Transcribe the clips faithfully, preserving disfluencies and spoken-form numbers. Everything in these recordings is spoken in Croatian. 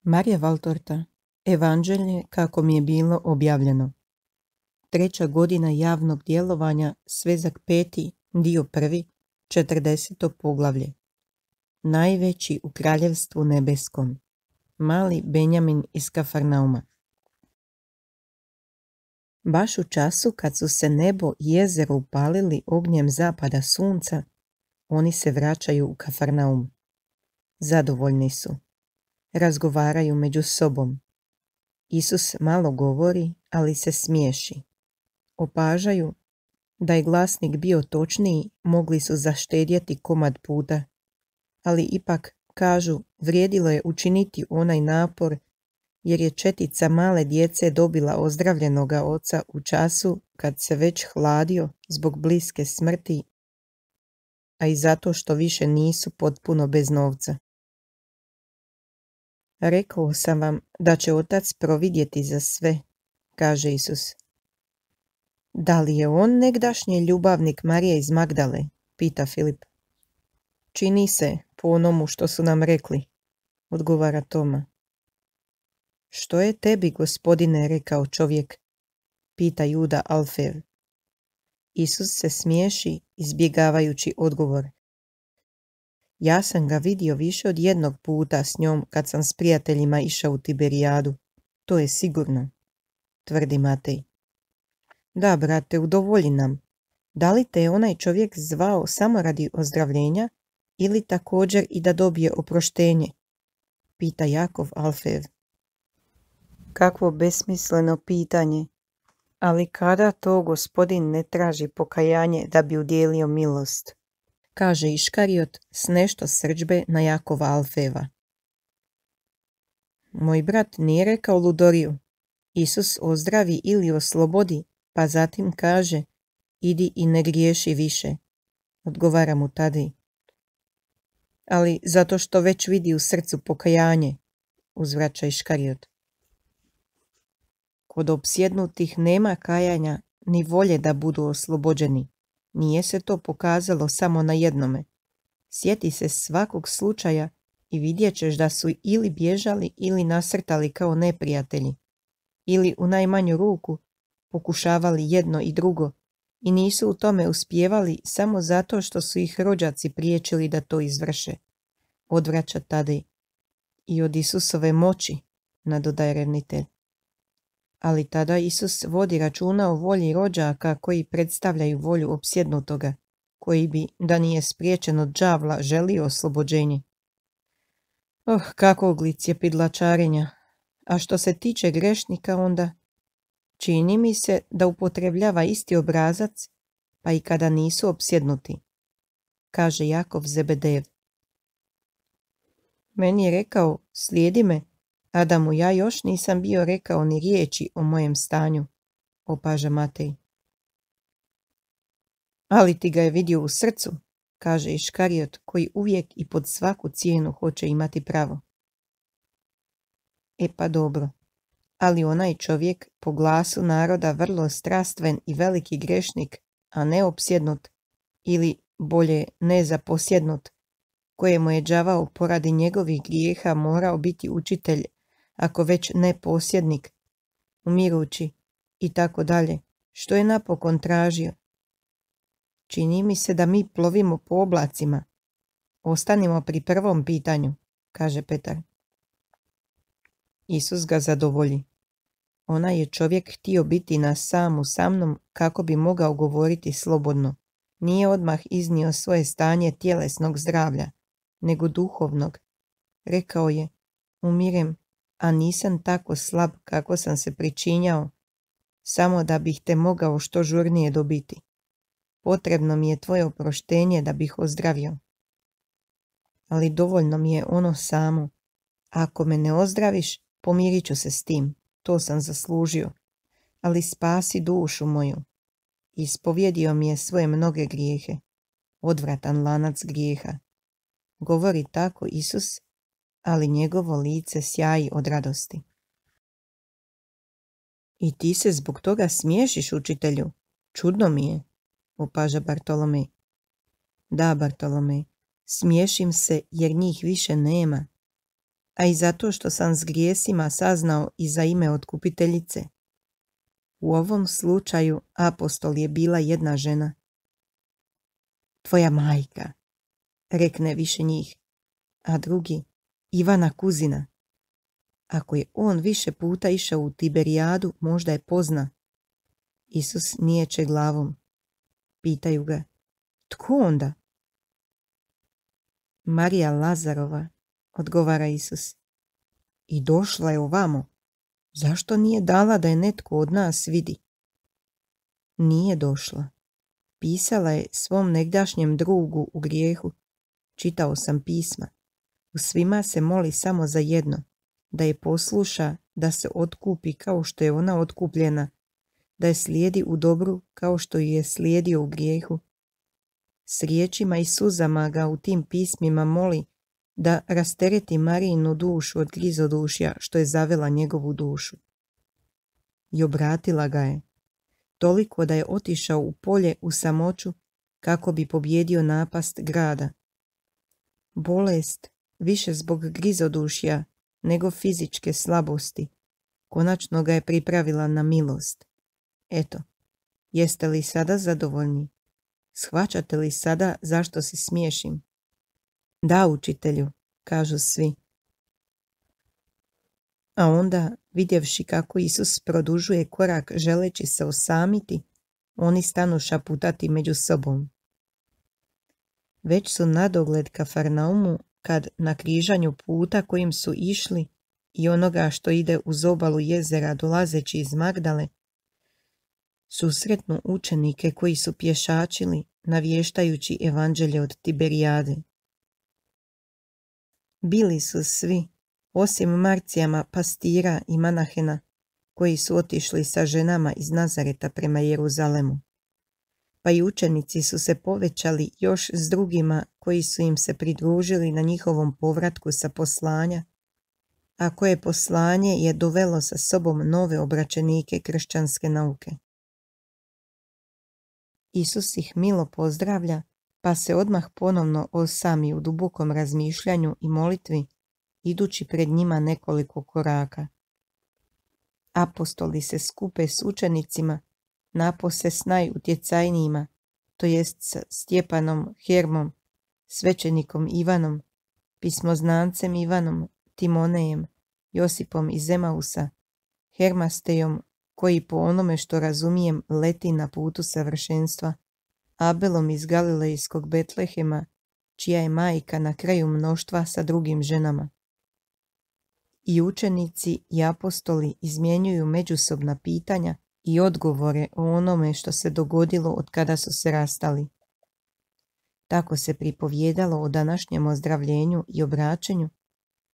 Marija Valtorta, Evanđelje kako mi je bilo objavljeno. Treća godina javnog djelovanja, svezak peti, dio prvi, četrdeseto poglavlje. Najveći u kraljevstvu nebeskom. Mali Benjamin iz Kafarnauma. Baš u času kad su se nebo i jezero upalili ognjem zapada sunca, oni se vraćaju u Kafarnaum. Zadovoljni su. Razgovaraju među sobom. Isus malo govori, ali se smiješi. Opažaju da je glasnik bio točniji, mogli su zaštedjeti komad puta, ali ipak, kažu, vrijedilo je učiniti onaj napor, jer je četica male djece dobila ozdravljenoga oca u času kad se već hladio zbog bliske smrti, a i zato što više nisu potpuno bez novca. Rekao sam vam da će otac providjeti za sve, kaže Isus. Da li je on negdašnji ljubavnik Marije iz Magdale, pita Filip. Čini se po onomu što su nam rekli, odgovara Toma. Što je tebi, gospodine, rekao čovjek, pita Juda Alfev. Isus se smiješi, izbjegavajući odgovor. Ja sam ga vidio više od jednog puta s njom kad sam s prijateljima išao u Tiberijadu. To je sigurno, tvrdi Matej. Da, brate, udovolji nam. Da li te je onaj čovjek zvao samo radi ozdravljenja ili također i da dobije oproštenje? Pita Jakov Alfev. Kakvo besmisleno pitanje. Ali kada to gospodin ne traži pokajanje da bi udjelio milost? Kaže Iškariot s nešto srdžbe na Jakova Alfeva. Moj brat nije rekao ludoriju. Isus ozdravi ili oslobodi, pa zatim kaže, idi i ne griješi više, odgovara mu Tadej. Ali zato što već vidi u srcu pokajanje, uzvraća Iškariot. Kod opsjednutih nema kajanja ni volje da budu oslobođeni. Nije se to pokazalo samo na jednome. Sjeti se svakog slučaja i vidjet ćeš da su ili bježali ili nasrtali kao neprijatelji, ili u najmanju ruku pokušavali jedno i drugo i nisu u tome uspijevali samo zato što su ih rođaci priječili da to izvrše, odvraća Tadej. I od Isusove moći, nadodaje revnitelj. Ali tada Isus vodi računa o volji rođaka koji predstavljaju volju opsjednutoga, koji bi, da nije spriječen od đavla, želio oslobođenje. Oh, kakvog licjepidlačarenja! A što se tiče grešnika onda, čini mi se da upotrebljava isti obrazac, pa i kada nisu opsjednuti, kaže Jakov Zebedev. Meni je rekao, slijedi me, a da mu ja još nisam bio rekao ni riječi o mojem stanju, opaža Matej. Ali ti ga je vidio u srcu, kaže Iškariot, koji uvijek i pod svaku cijenu hoće imati pravo. E pa dobro, ali onaj čovjek po glasu naroda vrlo strastven i veliki grešnik, a ne opsjednut, ili bolje ne zaposjednut, kojemu je đavao poradi njegovih grijeha morao biti učitelj, ako već ne posjednik, umirući i tako dalje, što je napokon tražio. Čini mi se da mi plovimo po oblacima. Ostanimo pri prvom pitanju, kaže Petar. Isus ga zadovolji. Onaj je čovjek htio biti na samu sa mnom kako bi mogao govoriti slobodno. Nije odmah iznio svoje stanje tjelesnog zdravlja, nego duhovnog. Rekao je, umirem, a nisam tako slab kako sam se pričinjao, samo da bih te mogao što žurnije dobiti. Potrebno mi je tvoje oproštenje da bih ozdravio. Ali dovoljno mi je ono samo. Ako me ne ozdraviš, pomirit ću se s tim, to sam zaslužio, ali spasi dušu moju. Ispovjedio mi je svoje mnoge grijehe, odvratan lanac grijeha. Govori tako Isus, ali njegovo lice sjaji od radosti. I ti se zbog toga smiješiš, učitelju? Čudno mi je, opaža Bartolomej. Da, Bartolomej, smiješim se jer njih više nema. a i zato što sam s grijesima saznao i za ime otkupiteljice. U ovom slučaju apostol je bila jedna žena. Tvoja majka, rekne više njih, a drugi, Ivana kuzina. Ako je on više puta išao u Tiberijadu, možda je pozna. Isus niječe glavom. Pitaju ga, tko onda? Marija Lazarova, odgovara Isus. I došla je ovamo. Zašto nije dala da je netko od nas vidi? Nije došla. Pisala je svom negdašnjem drugu u grijehu. Čitao sam pisma. U svima se moli samo za jedno, da je posluša, da se otkupi kao što je ona otkupljena, da je slijedi u dobru kao što ju je slijedio u grijehu. S riječima i suzama ga u tim pismima moli da rastereti Marijinu dušu od grizodušja što je zavela njegovu dušu. I obratila ga je, toliko da je otišao u polje u samoću kako bi pobjedio napast grada. Bolest, više zbog grizodušja nego fizičke slabosti, konačno ga je pripravila na milost. Eto, jeste li sada zadovoljni? Shvaćate li sada zašto se smiješim? Da, učitelju, kažu svi. A onda, vidjevši kako Isus produžuje korak želeći se osamiti, oni stanu šaputati među sobom. Već su nadogled Kafarnaumu kad na križanju puta kojim su išli i onoga što ide uz obalu jezera dolazeći iz Magdale, susretnu učenike koji su pješačili navještajući evanđelje od Tiberijade. Bili su svi, osim Marcijama, pastira i Manahena, koji su otišli sa ženama iz Nazareta prema Jeruzalemu. Pa i učenici su se povećali još s drugima koji su im se pridružili na njihovom povratku sa poslanja, a koje poslanje je dovelo sa sobom nove obraćenike kršćanske nauke. Isus ih milo pozdravlja, pa se odmah ponovno osami u dubokom razmišljanju i molitvi, idući pred njima nekoliko koraka. Apostoli se skupe s učenicima, napose s najutjecajnijima, to jest s Stjepanom, Hermom, svećenikom Ivanom, pismoznancem Ivanom, Timonejem, Josipom iz Emausa, Hermastejom, koji po onome što razumijem leti na putu savršenstva, Abelom iz Galilejskog Betlehema, čija je majka na kraju mnoštva sa drugim ženama. I učenici i apostoli izmjenjuju međusobna pitanja i odgovore o onome što se dogodilo od kada su se rastali. Tako se pripovjedalo o današnjem ozdravljenju i obraćenju,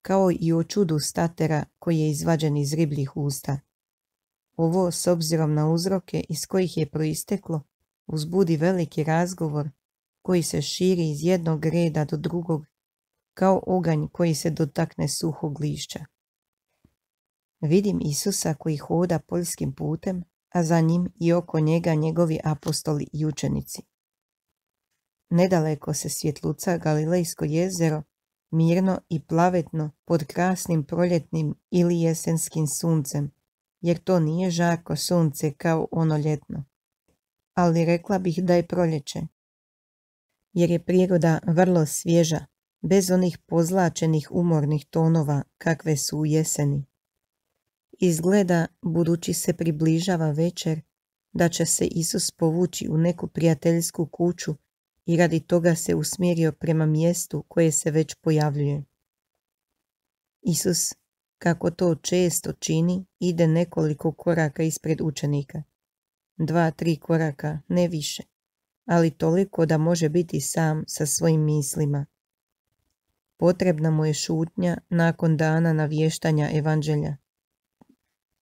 kao i o čudu statera koji je izvađen iz ribljih usta. Ovo, s obzirom na uzroke iz kojih je proisteklo, uzbudi veliki razgovor koji se širi iz jednog reda do drugog, kao oganj koji se dotakne suhog lišća. Vidim Isusa koji hoda poljskim putem, a za njim i oko njega njegovi apostoli i učenici. Nedaleko se svjetluca Galilejsko jezero, mirno i plavetno pod krasnim proljetnim ili jesenskim suncem, jer to nije žarko sunce kao ono ljetno. Ali rekla bih da je proljeće, jer je priroda vrlo svježa, bez onih pozlačenih umornih tonova kakve su u jeseni. Izgleda, budući se približava večer, da će se Isus povući u neku prijateljsku kuću i radi toga se usmjerio prema mjestu koje se već pojavljuje. Isus, kako to često čini, ide nekoliko koraka ispred učenika. Dva, tri koraka, ne više, ali toliko da može biti sam sa svojim mislima. Potrebna mu je šutnja nakon dana navještanja evanđelja.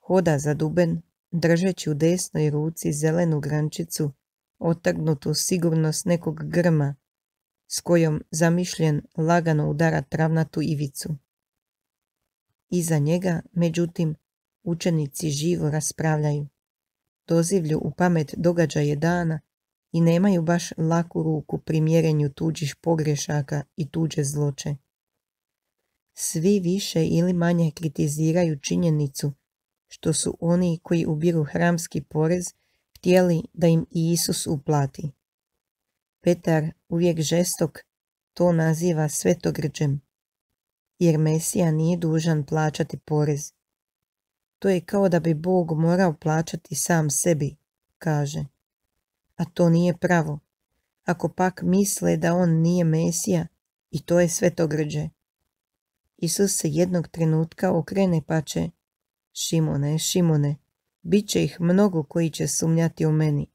Hoda zaduben, držeći u desnoj ruci zelenu grančicu, otrgnutu sigurno s nekog grma, s kojom zamišljen lagano udara travnatu ivicu. Iza njega, međutim, učenici živo raspravljaju. Dozivlju u pamet događaje dana i nemaju baš laku ruku pri mjerenju tuđih pogrešaka i tuđe zloće. Svi više ili manje kritiziraju činjenicu što su oni koji ubiru hramski porez htjeli da im i Isus uplati. Petar, uvijek žestok, to naziva svetogrđem, jer Mesija nije dužan plaćati porez. To je kao da bi Bog morao plaćati sam sebi, kaže. A to nije pravo. Ako pak misle da on nije Mesija, i to je svetogrđe. Isus se jednog trenutka okrene pa će: Šimone, Šimone, bit će ih mnogo koji će sumnjati u meni,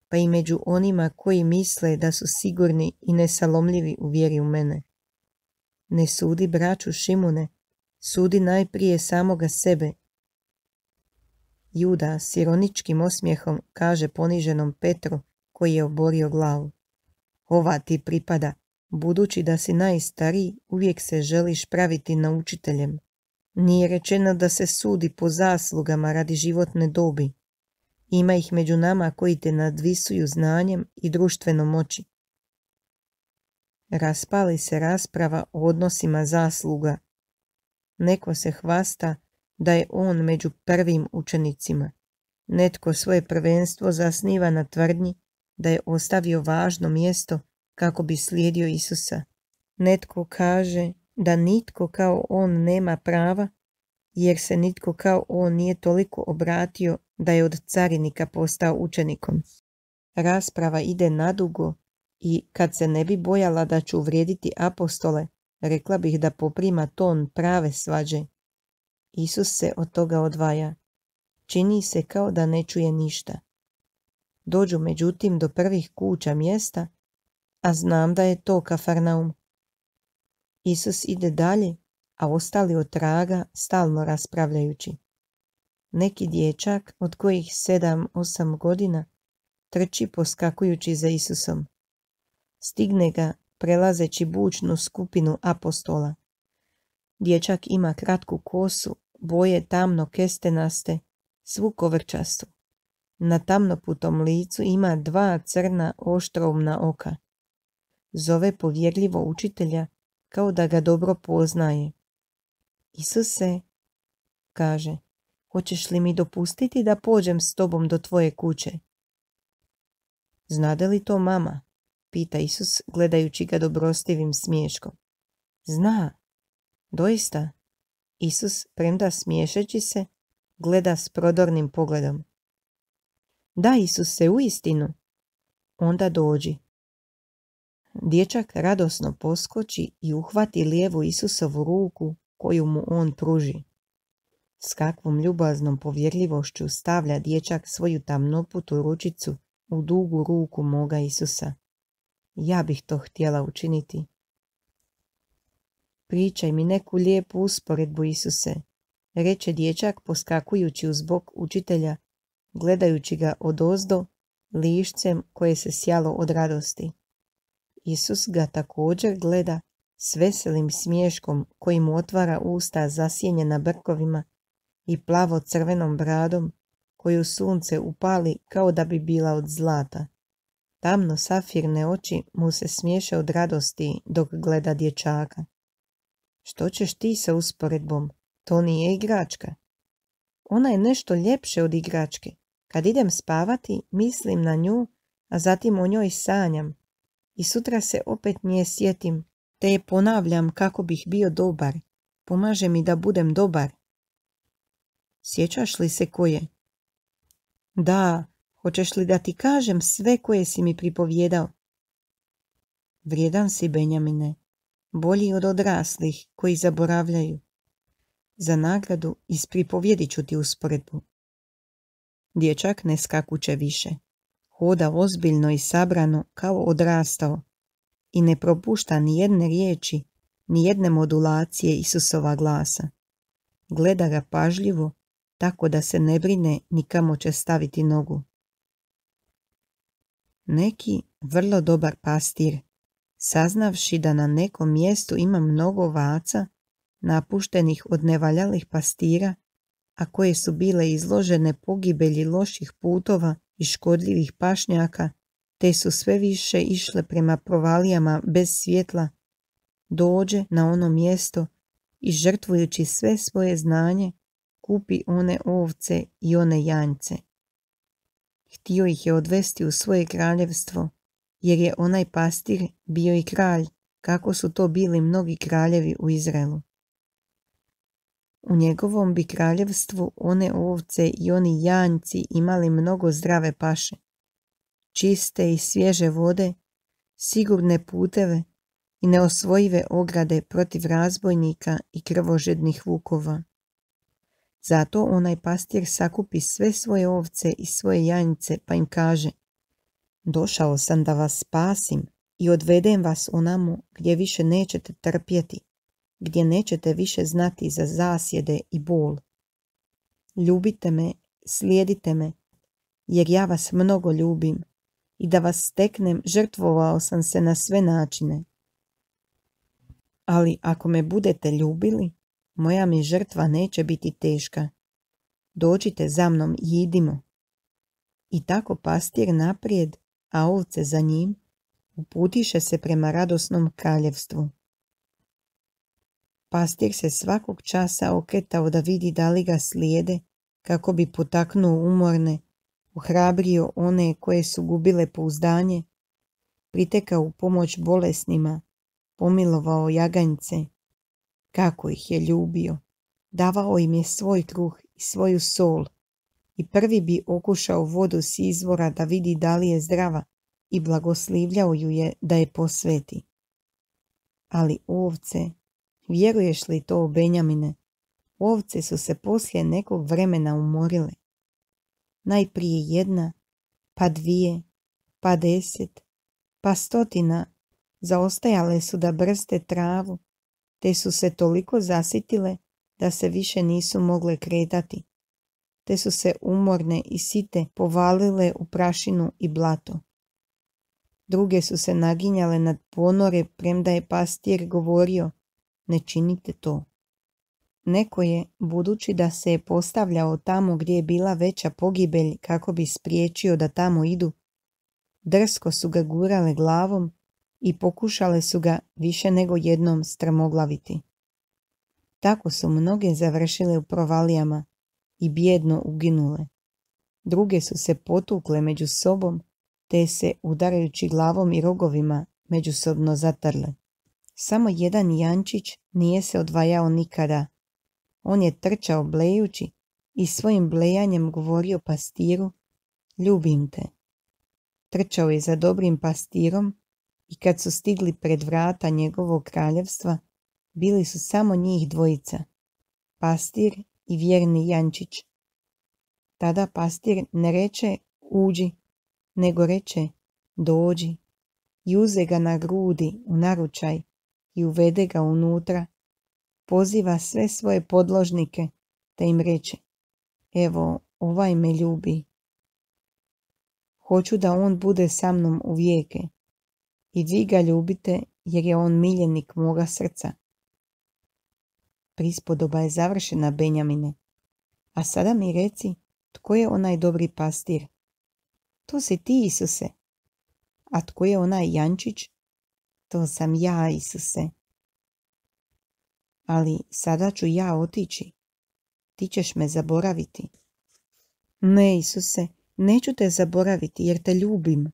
pa i među onima koji misle da su sigurni i nesalomljivi u vjeri u mene. Ne sudi braću Šimune, sudi najprije samoga sebe. Juda s ironičkim osmijehom kaže poniženom Petru, koji je oborio glavu: Ova ti pripada, budući da si najstariji, uvijek se želiš praviti naučiteljem. Nije rečeno da se sudi po zaslugama radi životne dobi. Ima ih među nama koji te nadvisuju znanjem i društvenom moći. Raspali se rasprava o odnosima zasluga. Neko se hvasta da je on među prvim učenicima. Netko svoje prvenstvo zasniva na tvrdnji da je ostavio važno mjesto kako bi slijedio Isusa. Netko kaže da nitko kao on nema prava, jer se nitko kao on nije toliko obratio da je od carinika postao učenikom. Rasprava ide nadugo i kad se ne bi bojala da ću uvrijediti apostole, rekla bih da poprima ton prave svađe. Isus se od toga odvaja. Čini se kao da ne čuje ništa. Dođu međutim do prvih kuća mjesta, a znam da je to Kafarnaum. Isus ide dalje, a ostali od traga stalno raspravljajući. Neki dječak od kojih sedam, osam godina trči poskakujući za Isusom. Stigne ga prelazeći bučnu skupinu apostola. Dječak ima kratku kosu, boje tamno kestenaste, svu kovrčastu. Na tamnoputom licu ima dva crna oštroumna oka. Zove povjerljivo učitelja kao da ga dobro poznaje. Isuse, kaže, hoćeš li mi dopustiti da pođem s tobom do tvoje kuće? Znade li to mama? Pita Isus gledajući ga dobrostivim smiješkom. Zna, doista. Isus, premda smiješeći se, gleda s prodornim pogledom. Da, Isuse, uistinu. Onda dođi. Dječak radosno poskoči i uhvati lijevu Isusovu ruku koju mu on pruži. S kakvom ljubaznom povjerljivošću stavlja dječak svoju tamnoputu ručicu u dugu ruku moga Isusa. Ja bih to htjela učiniti. Pričaj mi neku lijepu usporedbu, Isuse, reče dječak poskakujući uz bok učitelja, gledajući ga odozdo, lišcem koje se sjalo od radosti. Isus ga također gleda s veselim smiješkom koji mu otvara usta zasjenjena brkovima i plavo crvenom bradom koju sunce upali kao da bi bila od zlata. Tamno safirne oči mu se smiješe od radosti dok gleda dječaka. Što ćeš ti sa usporedbom? To nije igračka. Ona je nešto ljepše od igračke. Kad idem spavati, mislim na nju, a zatim o njoj sanjam. I sutra se opet nje sjetim, te je ponavljam kako bih bio dobar. Pomaže mi da budem dobar. Sjećaš li se koje? Da, hoćeš li da ti kažem sve koje si mi pripovjedao? Vrijedan si, Benjamine, bolji od odraslih koji zaboravljaju. Za nagradu ispripovjedit ću ti usporedbu. Dječak ne skakuće više. Hoda ozbiljno i sabrano kao odrastao i ne propušta ni jedne riječi, ni jedne modulacije Isusova glasa. Gleda ga pažljivo, tako da se ne brine ni kamo će staviti nogu. Neki vrlo dobar pastir, saznavši da na nekom mjestu ima mnogo ovaca, napuštenih od nevaljalih pastira, a koje su bile izložene pogibelji loših putova i škodljivih pašnjaka, te su sve više išle prema provalijama bez svjetla, dođe na ono mjesto i žrtvujući sve svoje znanje, kupi one ovce i one janjce. Htio ih je odvesti u svoje kraljevstvo, jer je onaj pastir bio i kralj, kako su to bili mnogi kraljevi u Izraelu. U njegovom bi kraljevstvu one ovce i oni janjci imali mnogo zdrave paše, čiste i svježe vode, sigurne puteve i neosvojive ograde protiv razbojnika i krvožednih vukova. Zato onaj pastir sakupi sve svoje ovce i svoje janjce pa im kaže: došao sam da vas spasim i odvedem vas onamo gdje više nećete trpjeti, gdje nećete više znati za zasjede i bol. Ljubite me, slijedite me, jer ja vas mnogo ljubim i da vas steknem žrtvovao sam se na sve načine. Ali ako me budete ljubili, moja mi žrtva neće biti teška. Dođite za mnom i idimo. I tako pastir naprijed, a ovce za njim, uputiše se prema radosnom kraljevstvu. Pastir se svakog časa okretao da vidi da li ga slijede, kako bi potaknuo umorne, ohrabrio one koje su gubile pouzdanje, pritekao u pomoć bolesnima, pomilovao jaganjce. Kako ih je ljubio, davao im je svoj kruh i svoju sol i prvi bi okušao vodu s izvora da vidi da li je zdrava i blagoslivljao ju je da je posveti. Ali ovce, vjeruješ li to, Benjamine, ovce su se poslije nekog vremena umorile. Najprije jedna, pa dvije, pa deset, pa stotina zaostajale su da brste travu, te su se toliko zasitile da se više nisu mogle kretati, te su se umorne i site povalile u prašinu i blato. Druge su se naginjale nad ponore, premda je pastir govorio: ne činite to. Neko je, budući da se je postavljao tamo gdje je bila veća pogibelj kako bi spriječio da tamo idu, drsko su ga gurale glavom i pokušale su ga više nego jednom strmoglaviti. Tako su mnoge završile u provalijama i bijedno uginule. Druge su se potukle među sobom, te se, udarajući glavom i rogovima, međusobno zatrle. Samo jedan jančić nije se odvajao nikada. On je trčao blejući i svojim blejanjem govorio pastiru: ljubim te. Trčao je za dobrim pastirom i kad su stigli pred vrata njegovog kraljevstva, bili su samo njih dvojica, pastir i vjerni jančić. Tada pastir ne reče: uđi, nego reče: dođi, i uze ga na grudi u naručaj i uvede ga unutra, poziva sve svoje podložnike, te im reče: evo, ovaj me ljubi. Hoću da on bude sa mnom u vijeke, i vi ga ljubite, jer je on miljenik moga srca. Prispodoba je završena, Benjamine. A sada mi reci, tko je onaj dobri pastir? To si ti, Isuse. A tko je onaj jančić? To sam ja, Isuse. Ali sada ću ja otići. Ti ćeš me zaboraviti. Ne, Isuse, neću te zaboraviti jer te ljubim.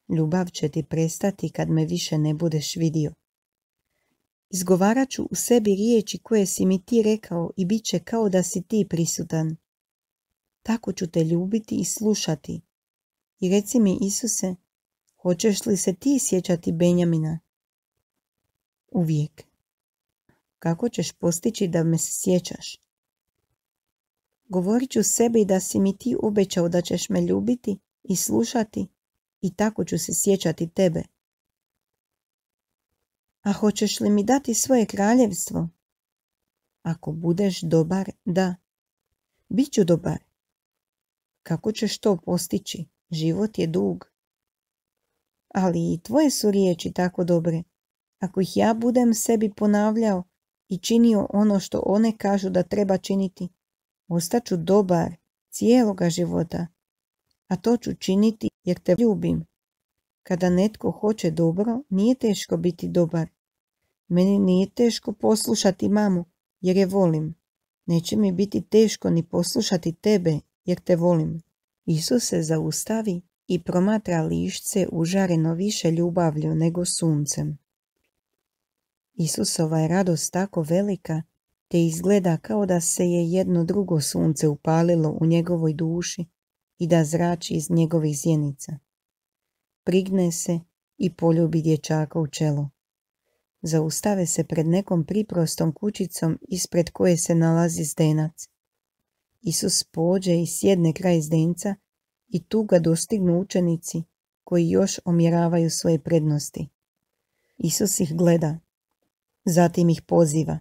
Ljubav će ti prestati kad me više ne budeš vidio. Izgovarat ću u sebi riječi koje si mi ti rekao i bit će kao da si ti prisutan. Tako ću te ljubiti i slušati. I reci mi, Isuse, hoćeš li se ti sjećati Benjamina? Uvijek. Kako ćeš postići da me se sjećaš? Govorit ću sebi da si mi ti obećao da ćeš me ljubiti i slušati i tako ću se sjećati tebe. A hoćeš li mi dati svoje kraljevstvo? Ako budeš dobar, da. Biću dobar. Kako ćeš to postići? Život je dug. Ali i tvoje su riječi tako dobre. Ako ih ja budem sebi ponavljao i činio ono što one kažu da treba činiti, ostaću dobar cijeloga života. A to ću činiti jer te ljubim. Kada netko hoće dobro, nije teško biti dobar. Meni nije teško poslušati mamu, jer je volim. Neće mi biti teško ni poslušati tebe, jer te volim. Isus se zaustavi i promatra lišće užareno više ljubavlju nego suncem. Isusova je radost tako velika, te izgleda kao da se je jedno drugo sunce upalilo u njegovoj duši i da zrači iz njegovih zjenica. Prigne se i poljubi dječaka u čelo. Zaustave se pred nekom priprostom kućicom ispred koje se nalazi zdenac. Isus pođe i sjedne kraj zdenca i tu ga dostignu učenici koji još omjeravaju svoje prednosti. Isus ih gleda, zatim ih poziva.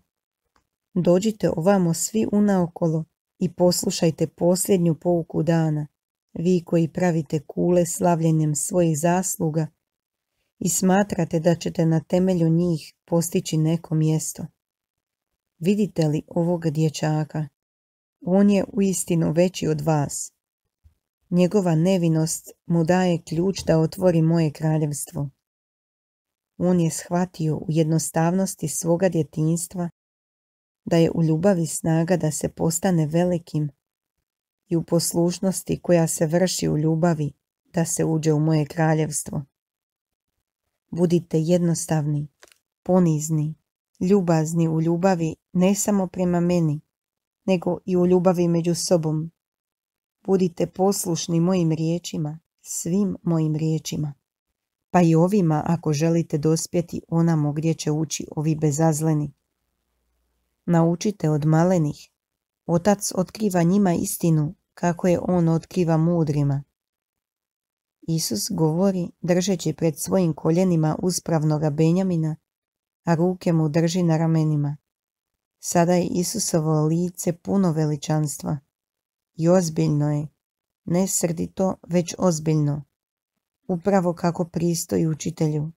Dođite ovamo svi unaokolo i poslušajte posljednju pouku dana, vi koji pravite kule slavljenjem svojih zasluga i smatrate da ćete na temelju njih postići neko mjesto. Vidite li ovog dječaka? On je uistinu veći od vas. Njegova nevinost mu daje ključ da otvori moje kraljevstvo. On je shvatio u jednostavnosti svoga djetinjstva da je u ljubavi snaga da se postane velikim i u poslušnosti koja se vrši u ljubavi da se uđe u moje kraljevstvo. Budite jednostavni, ponizni, ljubazni u ljubavi ne samo prema meni, nego i u ljubavi među sobom. Budite poslušni mojim riječima, svim mojim riječima, pa i ovima ako želite dospjeti onamo gdje će ući ovi bezazleni. Naučite od malenih. Otac otkriva njima istinu kako je on otkriva mudrima. Isus govori držeći pred svojim koljenima uspravnoga Benjamina, a ruke mu drži na ramenima. Sada je Isusovo lice puno veličanstva i ozbiljno je, ne srdito, već ozbiljno, upravo kako pristoji učitelju.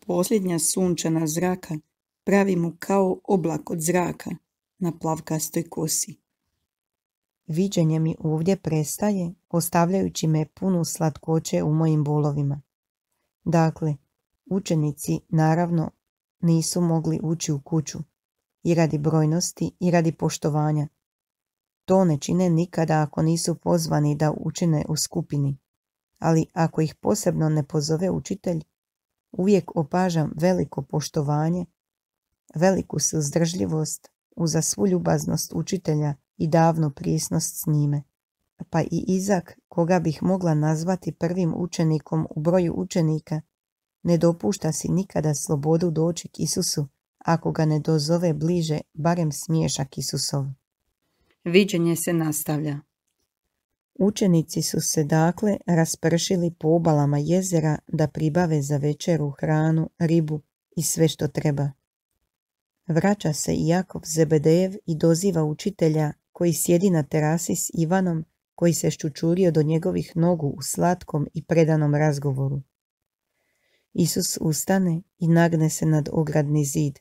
Posljednja sunčana zraka pravi mu kao oblak od zraka na plavkastoj kosi. Viđenje mi ovdje prestaje, ostavljajući me punu slatkoće u mojim bolovima. Dakle, učenici naravno nisu mogli ući u kuću, i radi brojnosti i radi poštovanja. To ne čine nikada ako nisu pozvani da učine u skupini, ali ako ih posebno ne pozove učitelj, uvijek opažam veliko poštovanje, veliku suzdržljivost uza svu ljubaznost učitelja i davnu prisnost s njime. Pa i Izak, koga bih mogla nazvati prvim učenikom u broju učenika, ne dopušta si nikada slobodu doći k Isusu ako ga ne dozove bliže barem smiješak Isusov. Viđenje se nastavlja. Učenici su se dakle raspršili po obalama jezera da pribave za večeru hranu, ribu i sve što treba. Vraća se i Jakov Zebedejev i doziva učitelja koji sjedi na terasi s Ivanom koji se ščučurio do njegovih nogu u slatkom i predanom razgovoru. Isus ustane i nagne se nad ogradni zid.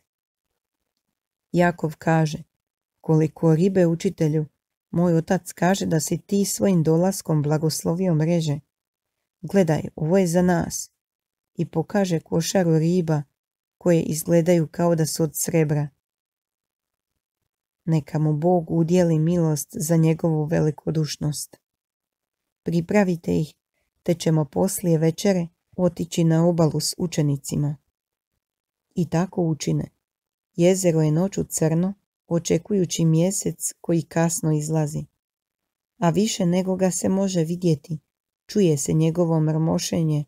Jakov kaže, koliko ribe učitelju, moj otac kaže da si ti svojim dolaskom blagoslovio mreže. Gledaj, ovo je za nas. I pokaže košaru riba koje izgledaju kao da su od srebra. Neka mu Bog udjeli milost za njegovu velikodušnost. Pripravite ih, te ćemo poslije večere otići na obalu s učenicima. I tako učine. Jezero je noću crno, očekujući mjesec koji kasno izlazi. A više nego ga se može vidjeti, čuje se njegovo mrmošenje,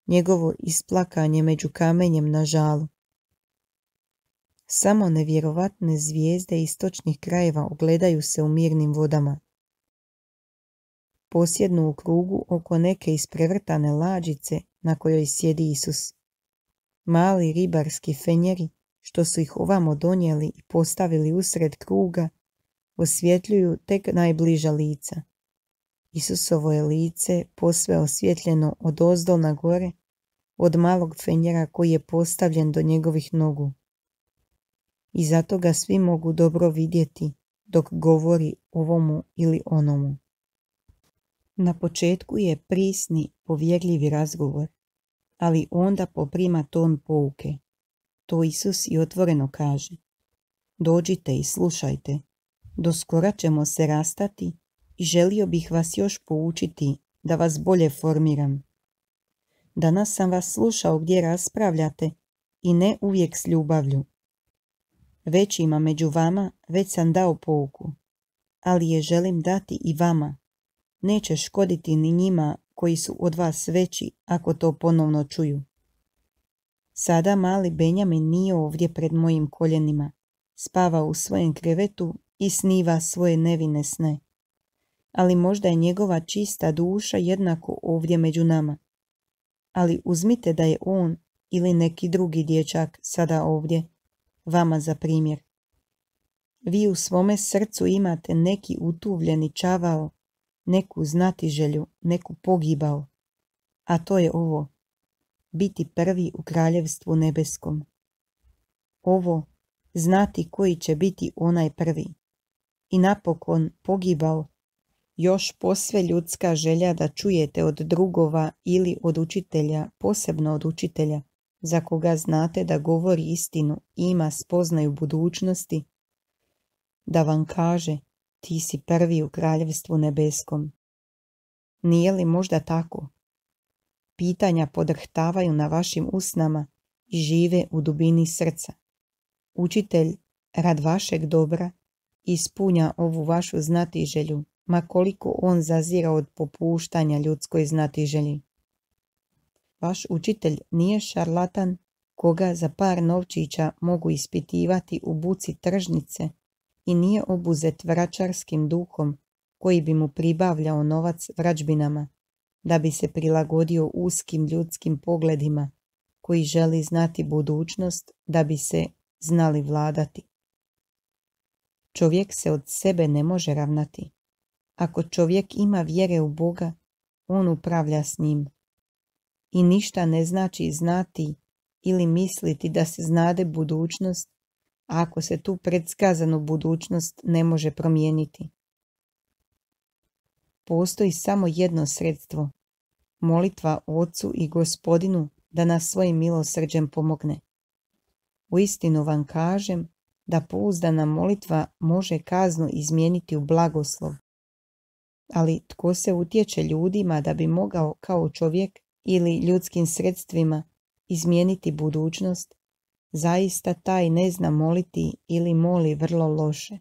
njegovo isplakanje među kamenjem na žalu. Samo nevjerovatne zvijezde istočnih krajeva ogledaju se u mirnim vodama. Posjednu u krugu oko neke isprevrtane lađice na kojoj sjedi Isus. Mali ribarski fenjeri, što su ih ovamo donijeli i postavili usred kruga, osvjetljuju tek najbliža lica. Isusovo je lice posve osvjetljeno od ozdo na gore, od malog fenjera koji je postavljen do njegovih nogu. I zato ga svi mogu dobro vidjeti dok govori ovomu ili onomu. Na početku je prisni, povjerljivi razgovor, ali onda poprima ton pouke. To Isus i otvoreno kaže. Dođite i slušajte, doskora ćemo se rastati i želio bih vas još poučiti da vas bolje formiram. Danas sam vas slušao gdje raspravljate i ne uvijek s ljubavlju. Većima među vama već sam dao pouku, ali je želim dati i vama. Neće škoditi ni njima koji su od vas veći ako to ponovno čuju. Sada mali Benjamin nije ovdje pred mojim koljenima, spava u svojem krevetu i sniva svoje nevine sne. Ali možda je njegova čista duša jednako ovdje među nama. Ali uzmite da je on ili neki drugi dječak sada ovdje, vama za primjer. Vi u svome srcu imate neki utuvljeni čavao, neku znatiželju, neku pogibao, a to je ovo, biti prvi u kraljevstvu nebeskom. Ovo, znati koji će biti onaj prvi. I napokon pogibao, još posve ljudska želja da čujete od drugova ili od učitelja, posebno od učitelja, za koga znate da govori istinu i ima spoznaju budućnosti, da vam kaže, ti si prvi u kraljevstvu nebeskom. Nije li možda tako? Pitanja podrhtavaju na vašim usnama i žive u dubini srca. Učitelj, rad vašeg dobra, ispunja ovu vašu znatiželju, ma koliko on zazira od popuštanja ljudskoj znatiželji. Vaš učitelj nije šarlatan koga za par novčića mogu ispitivati u buci tržnice i nije obuzet vračarskim duhom koji bi mu pribavljao novac vračbinama, da bi se prilagodio uskim ljudskim pogledima koji želi znati budućnost da bi se znali vladati. Čovjek se od sebe ne može ravnati. Ako čovjek ima vjere u Boga, on upravlja s njim. I ništa ne znači znati ili misliti da se znade budućnost, ako se tu predskazanu budućnost ne može promijeniti. Postoji samo jedno sredstvo, molitva Otcu i Gospodinu da nas svojim milosrđem pomogne. Uistinu vam kažem da pouzdana molitva može kaznu izmijeniti u blagoslov. Ali tko se utječe ljudima da bi mogao kao čovjek ili ljudskim sredstvima izmijeniti budućnost, zaista taj ne zna moliti ili moli vrlo loše.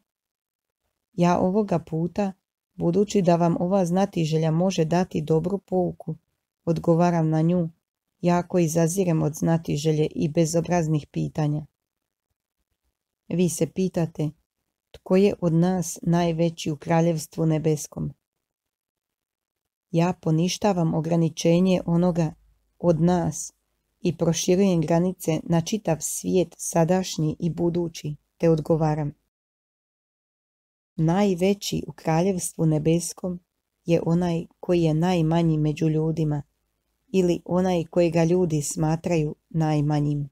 Ja ovoga puta, budući da vam ova znatiželja može dati dobru pouku, odgovaram na nju, jako izazirem od znatiželje i bezobraznih pitanja. Vi se pitate, tko je od nas najveći u kraljevstvu nebeskom? Ja poništavam ograničenje onoga od nas i proširujem granice na čitav svijet sadašnji i budući, te odgovaram. Najveći u kraljevstvu nebeskom je onaj koji je najmanji među ljudima ili onaj kojega ljudi smatraju najmanjim.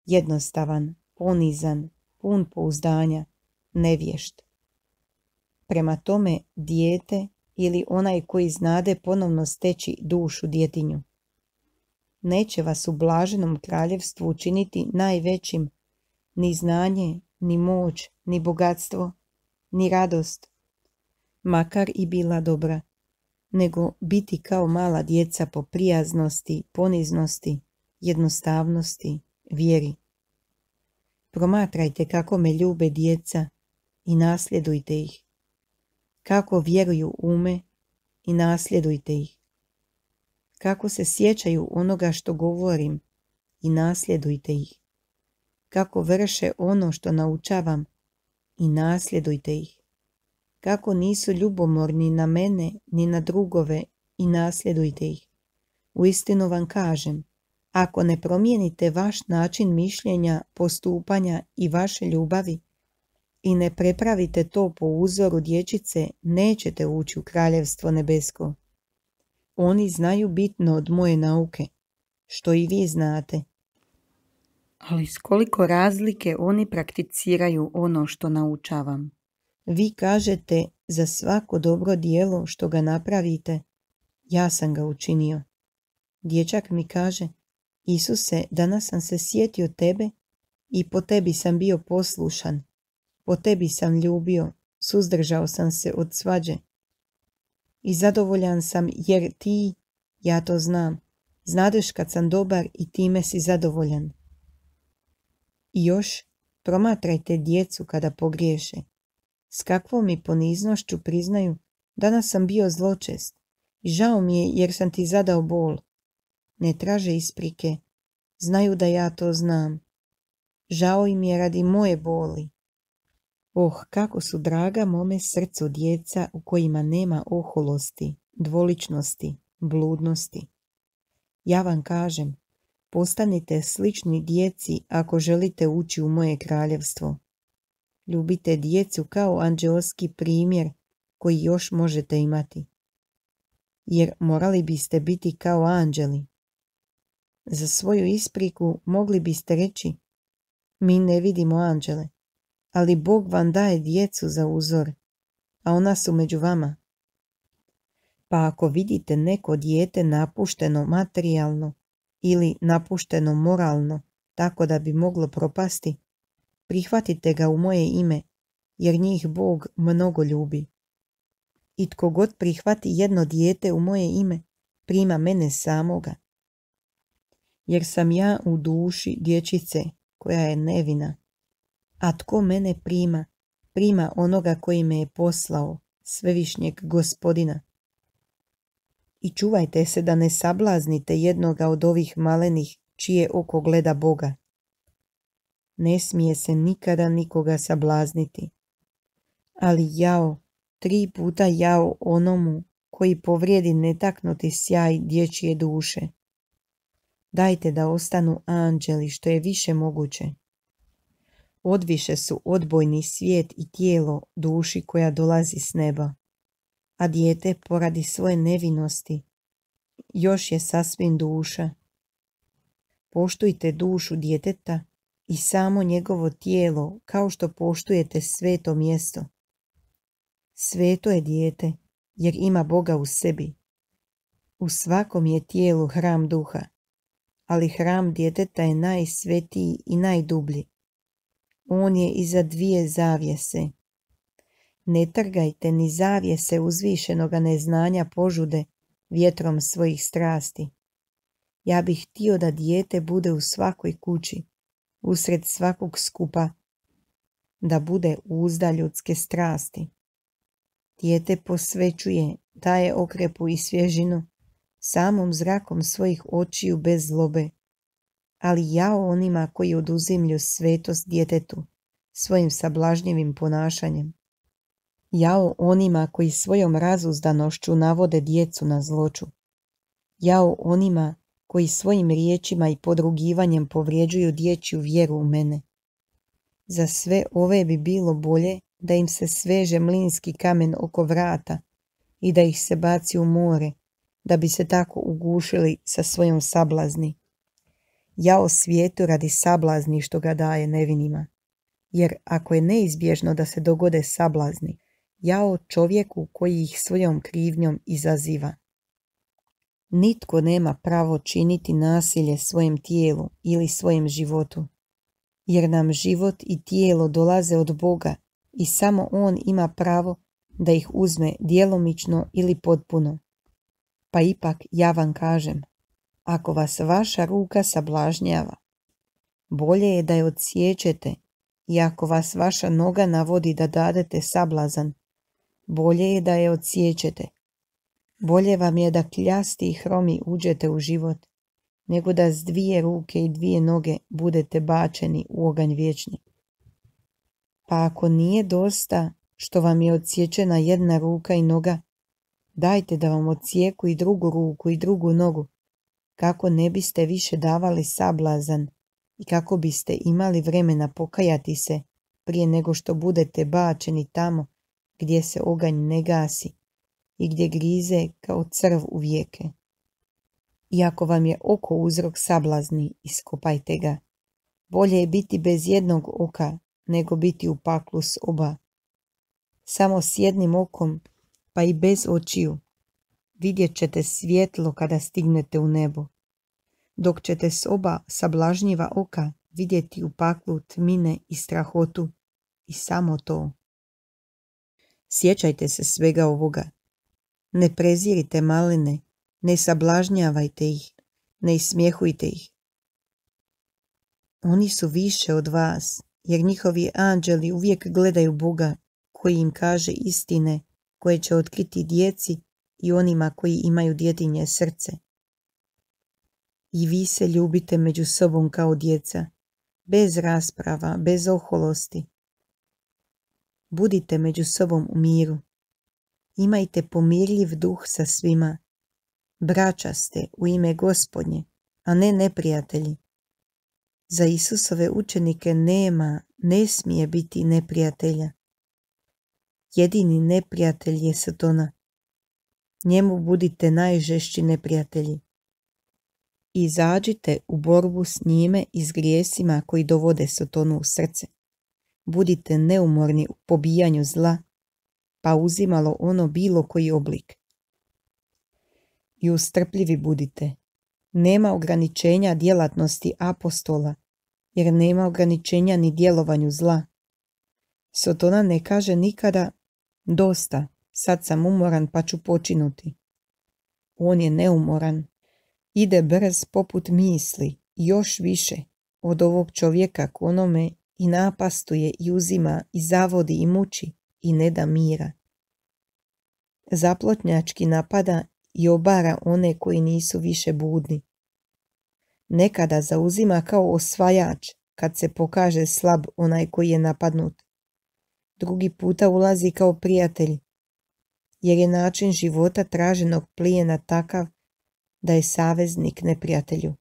Jednostavan, ponizan, pun pouzdanja, nevješt. Prema tome dijete ili onaj koji znade ponovno steći dušu djetinju. Neće vas u blaženom kraljevstvu učiniti najvećim ni znanje, ni moć, ni bogatstvo, ni radost, makar i bila dobra, nego biti kao mala djeca po prijaznosti, poniznosti, jednostavnosti, vjeri. Promatrajte kako me ljube djeca i nasljedujte ih. Kako vjeruju ume i nasljedujte ih. Kako se sjećaju onoga što govorim i nasljedujte ih. Kako vrše ono što naučavam i nasljedujte ih. Kako nisu ljubomorni na mene ni na drugove i nasljedujte ih. Uistinu vam kažem, ako ne promijenite vaš način mišljenja, postupanja i vaše ljubavi i ne prepravite to po uzoru dječice, nećete ući u kraljevstvo nebesko. Oni znaju bitno od moje nauke, što i vi znate. Ali s koliko razlike oni prakticiraju ono što naučavam. Vi kažete za svako dobro djelo što ga napravite, ja sam ga učinio. Dječak mi kaže, Isuse, danas sam se sjetio tebe i po tebi sam bio poslušan. Po tebi sam ljubio, suzdržao sam se od svađe. I zadovoljan sam jer ti, ja to znam, znadeš kad sam dobar i time si zadovoljan. I još, promatrajte djecu kada pogriješe. S kakvom mi poniznošću priznaju, danas sam bio zločest i žao mi je jer sam ti zadao bol. Ne traže isprike, znaju da ja to znam. Žao im je radi moje boli. Oh, kako su draga mome srcu djeca u kojima nema oholosti, dvoličnosti, bludnosti. Ja vam kažem, postanite slični djeci ako želite ući u moje kraljevstvo. Ljubite djecu kao anđeoski primjer koji još možete imati. Jer morali biste biti kao anđeli. Za svoju ispriku mogli biste reći, mi ne vidimo anđele, ali Bog vam daje djecu za uzor, a ona su među vama. Pa ako vidite neko dijete napušteno materijalno ili napušteno moralno, tako da bi moglo propasti, prihvatite ga u moje ime, jer njih Bog mnogo ljubi. I tko god prihvati jedno dijete u moje ime, prima mene samoga. Jer sam ja u duši dječice koja je nevina. A tko mene prima, prima onoga koji me je poslao, svevišnjeg Gospodina. I čuvajte se da ne sablaznite jednoga od ovih malenih čije oko gleda Boga. Ne smije se nikada nikoga sablazniti. Ali jao, tri puta jao onomu koji povrijedi netaknuti sjaj dječje duše. Dajte da ostanu anđeli što je više moguće. Odviše su odbojni svijet i tijelo duši koja dolazi s neba, a dijete poradi svoje nevinosti još je sasvim duša. Poštujte dušu djeteta i samo njegovo tijelo kao što poštujete sveto mjesto. Sveto je dijete jer ima Boga u sebi. U svakom je tijelu hram duha, ali hram djeteta je najsvetiji i najdublji. On je iza dvije zavjese. Ne trgajte ni zavjese uzvišenoga neznanja požude vjetrom svojih strasti. Ja bih htio da dijete bude u svakoj kući, usred svakog skupa, da bude uzda ljudske strasti. Dijete posvećuje, daje okrepu i svježinu, samom zrakom svojih očiju bez zlobe. Ali jao onima koji oduzimlju svetost djetetu svojim sablažnjivim ponašanjem. Jao onima koji svojom razuzdanošću navode djecu na zloču. Jao onima koji svojim riječima i podrugivanjem povrijeđuju dječju vjeru u mene. Za sve ove bi bilo bolje da im se sveže mlinski kamen oko vrata i da ih se baci u more, da bi se tako ugušili sa svojom sablazni. Jao svijetu radi sablazni što ga daje nevinima. Jer ako je neizbježno da se dogode sablazni, jao čovjeku koji ih svojom krivnjom izaziva. Nitko nema pravo činiti nasilje svojem tijelu ili svojem životu, jer nam život i tijelo dolaze od Boga i samo On ima pravo da ih uzme djelomično ili potpuno. Pa ipak ja vam kažem, ako vas vaša ruka sablažnjava, bolje je da je odsiječete, i ako vas vaša noga navodi da dadete sablazan, bolje je da je odsiječete. Bolje vam je da kljasti i hromi uđete u život, nego da s dvije ruke i dvije noge budete bačeni u oganj vječni. Pa ako nije dosta što vam je odsječena jedna ruka i noga, dajte da vam odsjeku i drugu ruku i drugu nogu, kako ne biste više davali sablazan i kako biste imali vremena pokajati se prije nego što budete bačeni tamo gdje se oganj ne gasi i gdje grize kao crv u vijeke. I ako vam je oko uzrok sablazni, iskopajte ga. Bolje je biti bez jednog oka nego biti u paklu s oba. Samo s jednim okom, pa i bez očiju, vidjet ćete svjetlo kada stignete u nebo. dok ćete s oba sablažnjiva oka vidjeti u paklu tmine i strahotu i samo to. Sjećajte se svega ovoga. Ne prezirite maline, ne sablažnjavajte ih, ne ismjehujte ih. Oni su više od vas, jer njihovi anđeli uvijek gledaju Boga koji im kaže istine koje će otkriti djeci i onima koji imaju djetinje srce. I vi se ljubite među sobom kao djeca, bez rasprava, bez oholosti. Budite među sobom u miru. Imajte pomirljiv duh sa svima. Braća ste u ime Gospodnje, a ne neprijatelji. Za Isusove učenike nema, ne smije biti neprijatelja. Jedini neprijatelj je Satana. Njemu budite najžešći neprijatelji. Izađite u borbu s njime i s grijesima koji dovode Satanu u srce. Budite neumorni u pobijanju zla, pa uzimalo ono bilo koji oblik. I ustrpljivi budite. Nema ograničenja djelatnosti apostola, jer nema ograničenja ni djelovanju zla. Satana ne kaže nikada, dosta, sad sam umoran pa ću počinuti. On je neumoran. Ide brz poput misli, još više od ovog čovjeka k onome i napastuje i uzima i zavodi i muči i ne da mira. Zaplotnjački napada i obara one koji nisu više budni. Nekada zauzima kao osvajač kad se pokaže slab onaj koji je napadnut. Drugi puta ulazi kao prijatelj, jer je način života traženog plijena takav da je saveznik neprijatelju.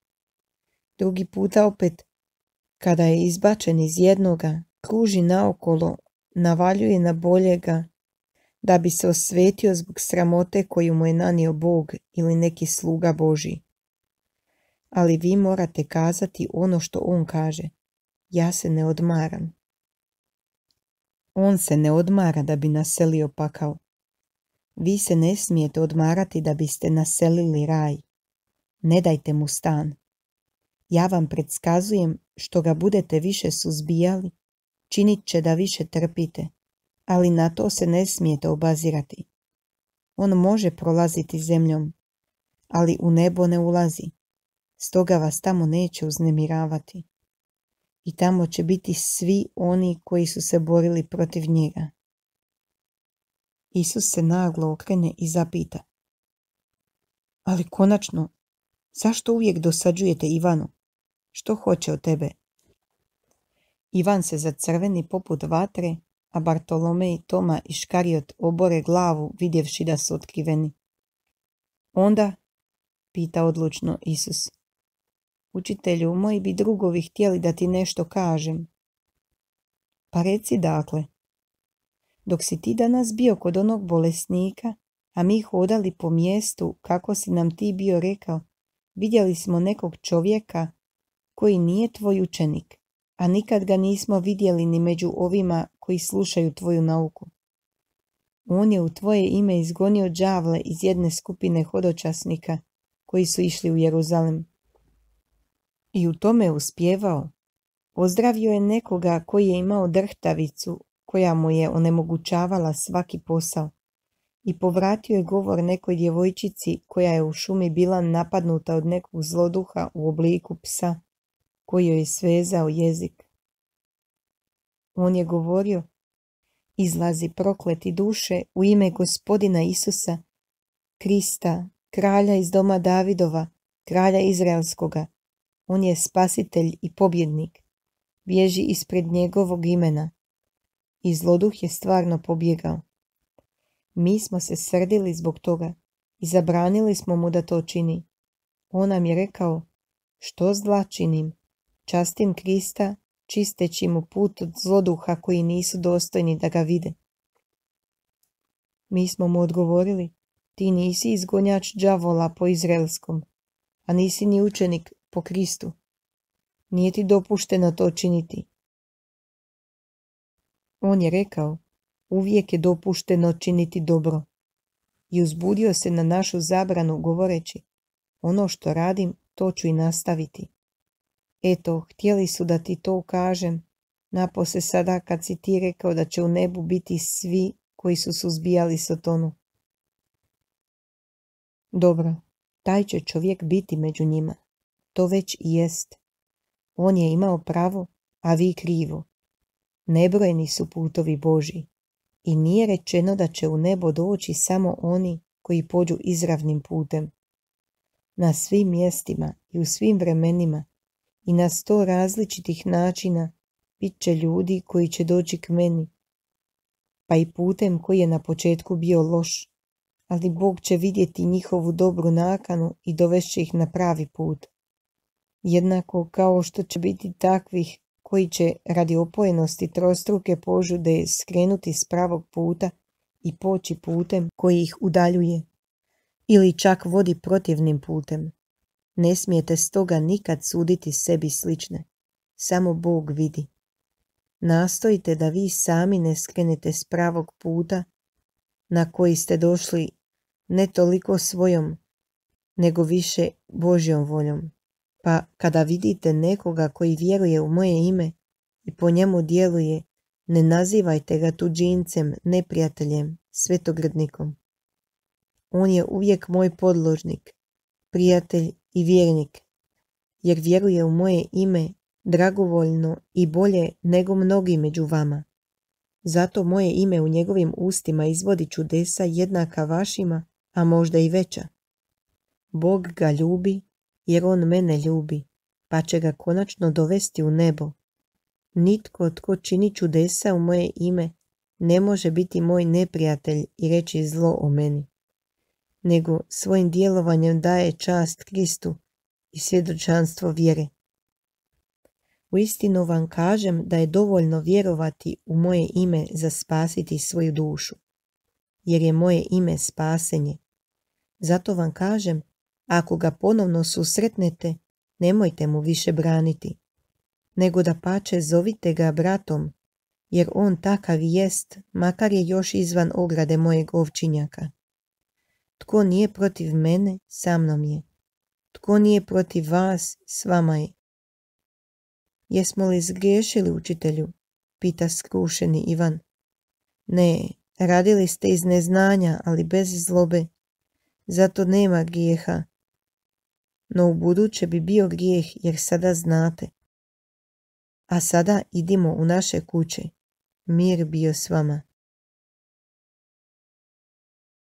Drugi puta opet, kada je izbačen iz jednoga, kruži naokolo, navaljuje na boljega, da bi se osvetio zbog sramote koju mu je nanio Bog ili neki sluga Božji. Ali vi morate kazati ono što on kaže. Ja se ne odmaram. On se ne odmara da bi naselio pakao. Vi se ne smijete odmarati da biste naselili raj. Ne dajte mu stan. Ja vam predskazujem što ga budete više suzbijali, činit će da više trpite, ali na to se ne smijete obazirati. On može prolaziti zemljom, ali u nebo ne ulazi, stoga vas tamo neće uznemiravati. I tamo će biti svi oni koji su se borili protiv njega. Isus se naglo okrene i zapita. Ali konačno, zašto uvijek dosađujete Ivanu? Što hoće od tebe? Ivan se zacrveni poput vatre, a Bartolomej, Toma i Škariot obore glavu vidjevši da su otkriveni. Onda, pita odlučno Isus, učitelju, moji bi drugovi htjeli da ti nešto kažem. Pa reci dakle. Dok si ti danas bio kod onog bolesnika, a mi hodali po mjestu kako si nam ti bio rekao, vidjeli smo nekog čovjeka koji nije tvoj učenik, a nikad ga nismo vidjeli ni među ovima koji slušaju tvoju nauku. On je u tvoje ime izgonio đavle iz jedne skupine hodočasnika koji su išli u Jeruzalem. I u tome je uspjevao. Ozdravio je nekoga koji je imao drhtavicu koja mu je onemogućavala svaki posao i povratio je govor nekoj djevojčici koja je u šumi bila napadnuta od nekog zloduha u obliku psa koji joj je svezao jezik. On je govorio, izlazi prokleti duše u ime Gospodina Isusa, Krista, kralja iz doma Davidova, kralja Izraelskoga. On je spasitelj i pobjednik. Bježi ispred njegovog imena. I zloduh je stvarno pobjegao. Mi smo se srdili zbog toga i zabranili smo mu da to čini. On nam je rekao, što zla činim? Častim Krista, čisteći mu put od zloduha koji nisu dostojni da ga vide. Mi smo mu odgovorili, ti nisi izgonjač đavola po izraelskom, a nisi ni učenik po Kristu. Nije ti dopušteno to činiti. On je rekao, uvijek je dopušteno činiti dobro. I uzbudio se na našu zabranu govoreći, ono što radim, to ću i nastaviti. Eto, htjeli su da ti to kažem, napose sada kad si ti rekao da će u nebu biti svi koji su suzbijali Sotonu. Dobro, taj će čovjek biti među njima. To već i jest. On je imao pravo, a vi krivo. Nebrojeni su putovi Božji i nije rečeno da će u nebo doći samo oni koji pođu izravnim putem. Na svim mjestima i u svim vremenima i na sto različitih načina bit će ljudi koji će doći k meni, pa i putem koji je na početku bio loš, ali Bog će vidjeti njihovu dobru nakanu i dovešće ih na pravi put. Jednako kao što će biti takvih koji će radi opojenosti trostruke požude skrenuti s pravog puta i poći putem koji ih udaljuje, ili čak vodi protivnim putem. Ne smijete stoga nikad suditi sebi slične, samo Bog vidi. Nastojite da vi sami ne skrenete s pravog puta na koji ste došli ne toliko svojom, nego više Božjom voljom. Pa kada vidite nekoga koji vjeruje u moje ime i po njemu djeluje, ne nazivajte ga tuđincem, neprijateljem, svetogrdnikom. On je uvijek moj podložnik, prijatelj i vjernik, jer vjeruje u moje ime dragovoljno i bolje nego mnogi među vama. Zato moje ime u njegovim ustima izvodi čudesa jednaka vašima, a možda i veća. Bog ga ljubi, jer on mene ljubi, pa će ga konačno dovesti u nebo. Nitko tko čini čudesa u moje ime ne može biti moj neprijatelj i reći zlo o meni, nego svojim djelovanjem daje čast Kristu i svjedočanstvo vjere. Uistinu vam kažem da je dovoljno vjerovati u moje ime za spasiti svoju dušu, jer je moje ime spasenje. Zato vam kažem, ako ga ponovno susretnete, nemojte mu više braniti, nego da pače zovite ga bratom, jer on takav jest, makar je još izvan ograde mojeg ovčinjaka. Tko nije protiv mene, sa mnom je. Tko nije protiv vas, s vama je. Jesmo li zgriješili, učitelju? Pita skrušeni Ivan. Ne, radili ste iz neznanja, ali bez zlobe. Zato nema grijeha. No u buduće bi bio grijeh, jer sada znate. A sada idimo u naše kuće. Mir bio s vama.